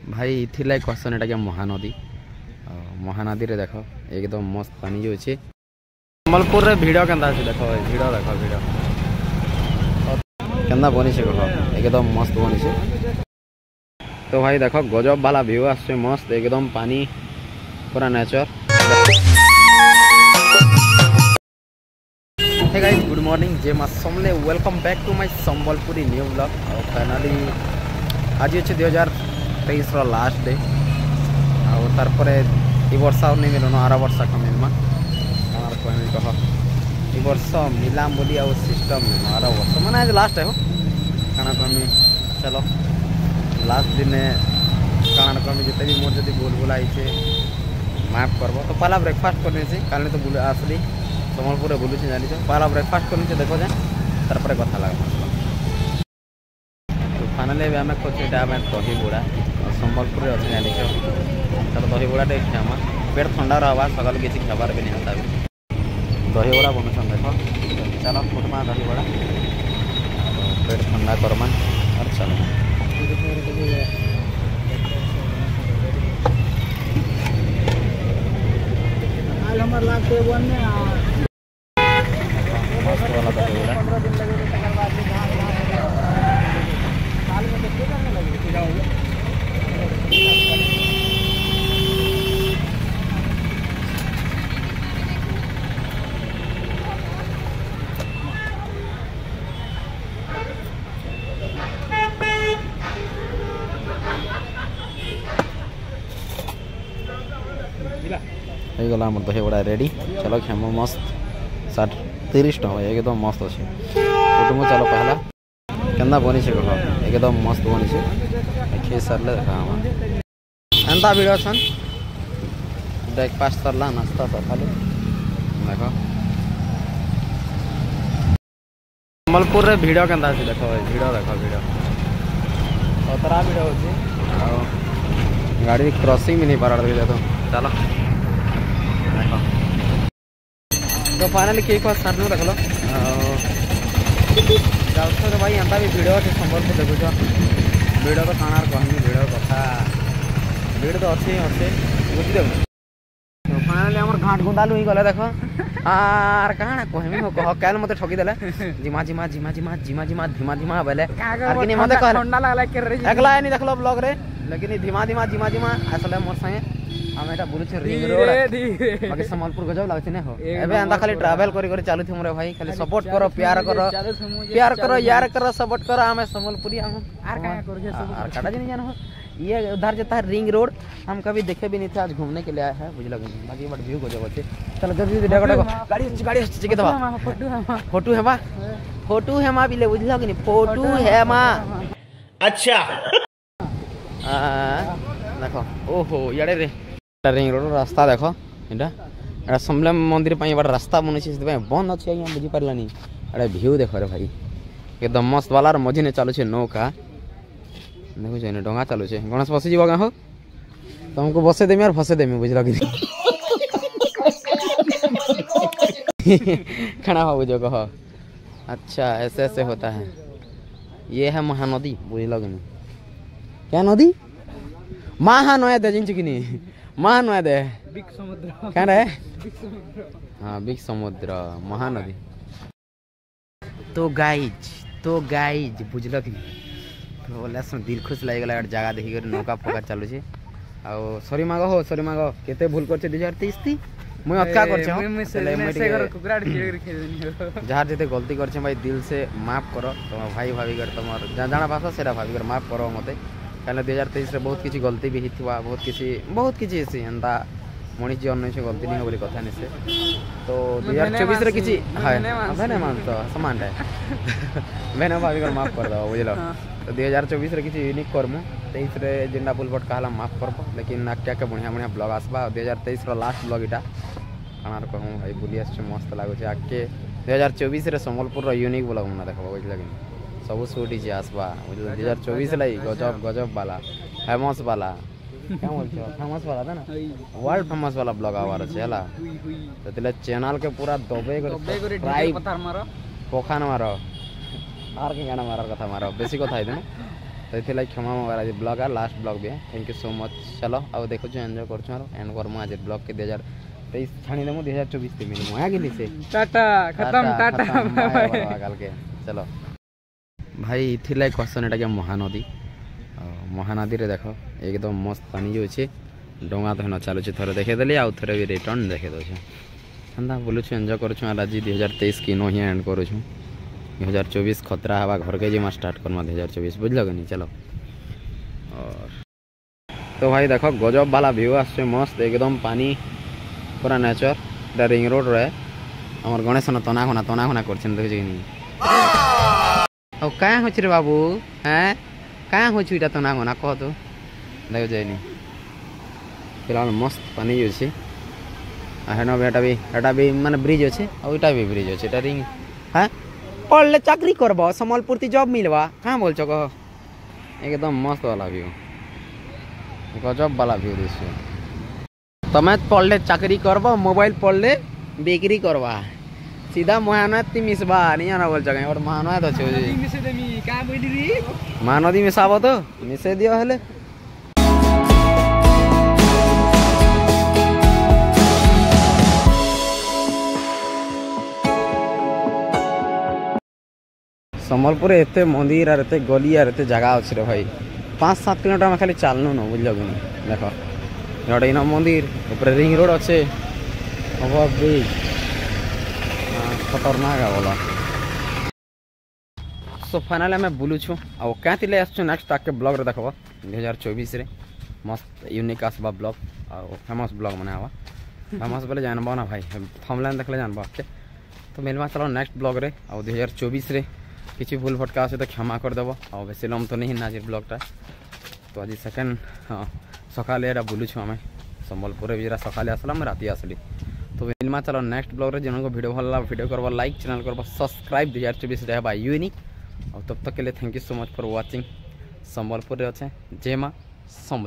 ଭାଇ ଇଥିର୍ଲାଗି କହେସନ୍ ଏଟାକେ ମହାନଦୀ। ମହାନଦୀରେ ଦେଖ ଏକଦମ ମସ୍ତ ପାନି ଯାଉଛେ। ସମ୍ବଲପୁରରେ ଭିଡ଼ କେନ୍ତା ଅଛି ଦେଖ ଭାଇ, ଭିଡ଼ ଦେଖ, ଭିଡ଼ କେନ୍ତା ବନିଛେ କହ, ଏକଦମ ମସ୍ତ ବନିଛେ। ତ ଭାଇ ଦେଖ ଗଜବ ବାଲା ଭିଉ ଆସୁଛେ, ମସ୍ତ ଏକଦମ ପାନି ପୁରା nature. Hey guys, good morning, ଜୟ ମା ସମଲେ, welcome back to my Sambalpuri new vlog. ଆଉ ଫାଇନାଲି ଆଜି ଅଛି 2023ର ଲାଷ୍ଟ ଡେ, ଆଉ ତାରପରେ ଇ ବର୍ଷ ଆଉ ନେଇ ମିଲୁନ, ଆର ବର୍ଷକୁ ମିଲମା। କାଣା କହିମି କହ, ଇ ବର୍ଷ ମିଲାମ ବୋଲି ଆଉ ସିଷ୍ଟମ୍ ନେଇନ, ଆର ବର୍ଷ ମାନେ ଆଜି ଲାଷ୍ଟ ହୋ। କାଣା କହିମି, ଚलो ଲାଷ୍ଟ ଦିନେ କାଣା କହିମି, ଯେତେ ବି ମୋର ଯଦି ଭୁଲ ଭୁଲା ହେଇଛେ ମାଫ କରବ। ତ ପହଲା ବ୍ରେକଫାଷ୍ଟ କରିନେଇছি, କାଲି ତ ବୁଲି ଆସିଲି, ସମ୍ବଲପୁରରେ ବୁଲୁଛି ଜାଣିଛ। ପହଲା ବ୍ରେକଫାଷ୍ଟ କରିନେଇଛି ଦେଖ ଯେ, ତାରପରେ କଥା ଲାଗମା। ତ ଫାଇନାଲି ଏବେ ଆମେ ଖୋଜୁ ଏଇଟା ଆମେ ଦହିବଡ଼ା, ସମ୍ବଲପୁରରେ ଅଛି ଜାଣିଛ। ତାର ଦହିବଡ଼ା ଟିକେ ଖାଇମା, ପେଟ ଥଣ୍ଡା ରହବା, ସକାଳୁ କିଛି ଖାଇବାର ବି ନାଇଁ ହେନ୍ତା ବି। ଦହିବଡ଼ା ବନୁଛନ୍ ଦେଖ, ଚାଲ ଫୁଟମା ଦହିବଡ଼ା, ପେଟ ଥଣ୍ଡା କରମା ଆର୍ ଚାଲ। मस्त वाला दहीवड़ा। ହେଇଗଲା ଆମର ଦହିବଡ଼ା ରେଡ଼ି, ଚାଲ ଖେମ ମସ୍ତ। 60 30 ଟଙ୍କା ଏକଦମ ମସ୍ତ ଅଛି। କୁଟୁମ୍ବ ଚାଲ ପହଲା କେନ୍ତା ବନିଛେ କହ, ଏକଦମ ମସ୍ତ ବନିଛେ। ଖେଇ ସାରିଲେ ଦେଖା ଆମା ଏନ୍ତା ଭିଡ଼ ଅଛନ୍। ବ୍ରେକଫାଷ୍ଟ ସରିଲା, ନାସ୍ତା ସକାଳୁ। ଦେଖ ସମ୍ବଲପୁରରେ ଭିଡ଼ କେନ୍ତା ଅଛି ଦେଖ ଭାଇ, ଭିଡ଼ ଦେଖ, ଭିଡ଼ ଖତରା ଭିଡ଼ ହଉଛି, ଆଉ ଗାଡ଼ି କ୍ରସିଂ ବି ନେଇ ପାରାର ଦେଖ ତ। ଚାଲ ଦେଖ, ତ ଫାଇନାଲି କେକ୍ ଫାକ୍ ସାରିଲୁ ଦେଖଲ, ଆଉ ଯାଉଛ ତ ଭାଇ। ଏନ୍ତା ବି ଭିଡ଼ ଅଛି ସମ୍ବଲପୁର ଦେଖୁଛ, ଭିଡ଼ ତ କାଣାର କହନି, ଭିଡ଼ କଥା ଭିଡ଼ ତ ଅଛି ଅଛି ବୁଝିଦେବୁ। ତ ଫାଇନାଲି ଆମର ଘାଟ ଗୁଣ୍ଡାଲୁ ହେଇଗଲା ଦେଖ, ଆର୍ କାଣା କହେମି ହୋ କହ। କାଲ୍ ମତେ ଠକିଦେଲେ, ଜିମା ଜିମା ଜିମା ଜିମା ଜିମା ଜିମା ଧୀମା ଧୀମା ବେଲେ, ଆର୍ କିନି ମତେ କହଲେ ଥଣ୍ଡା ଲାଗଲା କେ ରେ। ଏକଲା ଏନି ଦେଖଲ ବ୍ଲଗ ରେ, ଲେକିନ ଧୀମା ଧୀମା ଜିମା ଜିମା ଆସିଲେ ମୋର ସାଙ୍ଗେ। ଆମେ ଏଟା ବୁଲୁଛେ ରିଙ୍ଗ ରୋଡ, ବାକି ସମ୍ବଲପୁର ଗଜବ ଲାଗୁଛି ନା ହୋ। ଏବେ ଏନ୍ତା ଖାଲି ଟ୍ରାଭେଲ କରି କରି ଚାଲୁଥିମୁ ରେ ଭାଇ, ଖାଲି ସପୋର୍ଟ କର, ପ୍ୟାର କର, ପ୍ୟାର କର, ୟାର କର, ସପୋର୍ଟ କର। ଆମେ ସମ୍ବଲପୁରୀ हम are काया करके सब are काटा जी नहीं जानो। ये उधर जाता है रिंग रोड, हम कभी देखे भी नहीं थे, आज घूमने के लिए आए हैं बुझल। बाकी बट व्यू गजब अच्छे। चलो जल्दी जल्दी देखो देखो, गाड़ी गाड़ी चिके दबा। Photo Hema, photo Hema, photo Hema भी ले बुझल कि नहीं, फोटो हेमा। अच्छा ଦେଖ, ଓହୋ ଇଆଡ଼େ ରେ ରିଙ୍ଗ ରୋଡ ରାସ୍ତା ଦେଖ, ଏଇଟା ଏଟା ସମଲେଇ ମନ୍ଦିର ପାଇଁ ଏବାଟ ରାସ୍ତା ବନିଛି, ସେଥିପାଇଁ ବନ୍ଦ ଅଛି ଆଜ୍ଞା, ବୁଝିପାରିଲାନି। ଏଟା ଭିଉ ଦେଖ ରେ ଭାଇ, ଏକଦମ ମସ୍ତ ବାଲା। ମଝିନେ ଚାଲୁଛେ ନୌକା ଦେଖୁଛ, ଏନେ ଡଙ୍ଗା ଚାଲୁଛେ। ଗଣେଶ ବସିଯିବ ଗାଁ ହୋ, ତମକୁ ବସେଇ ଦେମି ଆର୍ ଫସେଇ ଦେମି ବୁଝିଲ କି, କାଣା ଭାବୁଛ କହ। अच्छा ऐसे ऐसे होता है, ये है महानदी बुझल कि नहीं। क्या नदी महानदी ଜାଣିଛୁ କି ନି? ମହାନदी बिग समुद्र क्या रे? बिग समुद्र, हाँ बिग समुद्र महानदी। तो गाइज बुझल कि तो बोले दिल खुश ଲାଗିଗଲା ଗୋଟେ ଜାଗା ଦେଖିକରି, ନୌକା ଫୌକା ଚାଲୁଛେ। ଆଉ ସରି ମାଗ ହୋ, ସରି ମାଗ, କେତେ ଭୁଲ କରିଛେ 2023 ତି ମୁଇଁ ଅଟକା କରିଛେ। ଯାହାର ଯେତେ ଗଲତି କରିଛେ ଭାଇ, ଦିଲ ସେ ମାଫ କର। ତମ ଭାଇ ଭାବିକରି, ତମର ଜାଣା ଭାଷା ସେଟା ଭାବିକରି ମାଫ କର ମତେ, କାହିଁକିନା 2023ରେ ବହୁତ କିଛି ଗଲତି ବି ହେଇଥିବା, ବହୁତ କିଛି ବହୁତ କିଛି ହେସି ଏନ୍ତା। ମଣିଷ ଜୀବନ ନେଇছে, ଗଲତି ନାଇଁ ବୋଲି କଥା ନେଇছে। ତ 2024ରେ କିଛି ଭେନେ ମାନ ତ ସମାନଟା ଭେନେ ଭାବିକରି ମାଫ କରିଦେବ ବୁଝିଲ। ତ 2024ରେ କିଛି ୟୁନିକ୍ କରମୁ, 23ରେ ଯେନ୍ଟା ଭୁଲ ଭଟକା ହେଲା ମାଫ କରବ, ଲେକିନ୍ ଆଗକେ ଆଗକେ ବଢ଼ିଆ ବଢ଼ିଆ ବ୍ଲଗ ଆସବା। 2023ର ଲାଷ୍ଟ ବ୍ଲଗ ଏଇଟା। କାଣାର କହମୁ ଭାଇ, ବୁଲି ଆସିଛୁ, ମସ୍ତ ଲାଗୁছে। ଆଗକେ 2024ରେ ସମ୍ବଲପୁରର ୟୁନିକ୍ ବ୍ଲଗ ମନେ ଦେଖବ ବୁଝିଲ କି, ସବୁ ସୁଟ୍ ହେଇଛି ଆସବା ବୁଝିଲ। 2024 ଲାଗି ଗଜବ ଗଜବ ବାଲା ଫେମସ୍ ବାଲା, क्या बोलते हो, फेमस वाला था ना, वर्ल्ड फेमस वाला ब्लॉग आवार ଅଛି ହେଲା। ସେଥିଲାଗି ଚ୍ୟାନେଲ କେ ପୁରା ଦବେଇ କରି ସବସ୍କ୍ରାଇବ ପଥାର ମାର, ପଖାନ ମାର, ଆର୍ କି ଗାନା ମାରାର କଥା ମାର, ବେଶୀ କଥା ହେଇଦିନ। ତ ଏଥିଲାଗି କ୍ଷମା ମଗାର ଆଜି ବ୍ଲଗ୍ ଆଉ last blog B. Thank you so much. ଚलो ଆଉ ଦେଖୁଛୁ, ଏନ୍ଜୟ କରୁଛୁ ଆରୁ ଏଣ୍ଡ କରମୁ ଆଜି ବ୍ଲଗ୍ କେ। 2023 ଛାଣି ଦେମୁ, 2024 ତେ ମିଲମୁ ହେ କି ସେ। ଟାଟା, ଖତମ, ଟାଟା, ବାय ବାय। କାଲକେ। ଚलो ଭାଇ, ଇଥିଲାଗି କହେସନ୍ ଏଟାକେ ମହାନଦୀ। ଆଉ ମହାନଦୀରେ ଦେଖ, ଏକଦମ ମସ୍ତ ପାନି ଯାଉଛେ, ଡଙ୍ଗା ତ ହେନ ଚାଲୁଛେ। ଥରେ ଦେଖେଇଦେଲି, ଆଉ ଥରେ ବି ରିଟର୍ନ ଦେଖେଇ ଦେଉଛେ। ହେନ୍ତା ବୁଲୁଛୁ, ଏନ୍ଜୟ କରୁଛୁ। ଆର୍ ଆଜି 2023 କି ନ ହିଁ ଏଣ୍ଡ କରୁଛୁ। 2024 ଖତରା ହେବା, ଘରକେ ଯିମା, ଷ୍ଟାର୍ଟ କର୍ମା 2024, ବୁଝଲ କି ନି? चलो। और तो भाई देखो, गजब वाला व्यू आसছে, मस्त एकदम पानी, पूरा नेचर। এটা রিং রোড রয়ে। আমার গণেশ তনা খনা তনা খনা করছেন, দেখছি কি নি? ଆଉ କାଁ ହଉଛି ରେ ବାବୁ? ହେଁ, କାଁ ହଉଛି ଏଇଟା ତନା ଖନା, କହ ତ। ଦେଖ ଯାଇନି, ଫିଲହାଲ ମସ୍ତ ପାନି ଅଛି। ଆଉ ହେନ ବି ଏଟା ବି ମାନେ ବ୍ରିଜ୍ ଅଛି, ଆଉ ଏଇଟା ବି ବ୍ରିଜ୍ ଅଛି। ଏଟା ରିଙ୍ଗ। হ্যাঁ, ପଢ଼ଲେ ଚାକିରି କରବ, ସମ୍ବଲପୁର ତି ଜବ୍ ମିଲବା, କାଁ ବୋଲଛ କହ? एकदम मस्त वाला व्यू, गजब वाला व्यू दिसছে। ତମେ ପଢ଼ଲେ ଚାକିରି କରବ, ମୋବାଇଲ ପଢ଼ଲେ ବିକ୍ରି କରବା, ସିଧା ମହାନଦୀ ମିଶବା ନି ଜାନ ବୋଲଛ କାଇଁ? ଗୋଟେ ମହାନଦ ଅଛି। ମିଶେଇ ଦେମି କାଁ ବୋଇଲି ରି? ମହାନଦୀ ମିଶାବ ତ ମିଶେଇ ଦିଅ ହେଲେ। ସମ୍ବଲପୁରରେ ଏତେ ମନ୍ଦିର ଆର୍ ଏତେ ଗଲି ଆର୍ ଏତେ ଜାଗା ଅଛି ରେ ଭାଇ, 5-7 କିଲୋମିଟର ଆମେ ଖାଲି ଚାଲନୁ ନ, ବୁଝିଲ କି ନି? ଦେଖ, ଗୋଟେ ଇନ ମନ୍ଦିର, ଉପରେ ରିଙ୍ଗ ରୋଡ ଅଛେ, ଓଭର ବ୍ରିଜ, ଖତରନାକ ବୋଲା। ସୋ ଫାଇନାଲି ଆମେ ବୁଲୁଛୁ ଆଉ କାଁ ଥିଲେ ଆସୁଛୁ, ନେକ୍ସଟ ଆଗକେ ବ୍ଲଗ୍ରେ ଦେଖବ। 2024ରେ ମସ୍ତ ୟୁନିକ୍ ଆସବା ବ୍ଲଗ୍ ଆଉ ଫେମସ୍ ବ୍ଲଗ୍ ମାନେ ହେବା। ଫେମସ୍ ବୋଲେ ଜାନବ ନା ଭାଇ, ଥମ୍ବନେଲ୍ ଦେଖିଲେ ଜାନବ ଆଗକେ। ତ ମିଲମା ଚलो ନେକ୍ସଟ ବ୍ଲଗ୍ରେ। ଆଉ 2024ରେ କିଛି ଭୁଲ ଭଟକା ଅଛି ତ କ୍ଷମା କରିଦେବ। ଆଉ ବେଶୀ ଲମ୍ବ ତ ନେଇ ନା ଆଜି ବ୍ଲଗ୍ଟା। ତ ଆଜି ସେକେଣ୍ଡ, ହଁ, ସକାଳେ ଏଇଟା ବୁଲୁଛୁ ଆମେ ସମ୍ବଲପୁରରେ ବି। ସକାଳେ ଆସିଲା, ମୁଁ ରାତି ଆସିଲି। ତ ମିଲମା ଚलो ନେକ୍ସଟ ବ୍ଲଗ୍ରେ। ଯେନଙ୍କୁ ଭିଡ଼ିଓ ଭଲ ଲାଗା, ଭିଡ଼ିଓ କରବ ଲାଇକ୍, ଚ୍ୟାନେଲ୍ କରବ ସବସ୍କ୍ରାଇବ୍। 2024ରେ ହେବା ୟୁନିକ୍। ଆଉ तब तक के लिए thank you so much for watching। ସମ୍ବଲପୁରରେ ଅଛେ। ଜୟ ମା ସମ୍ବଲ।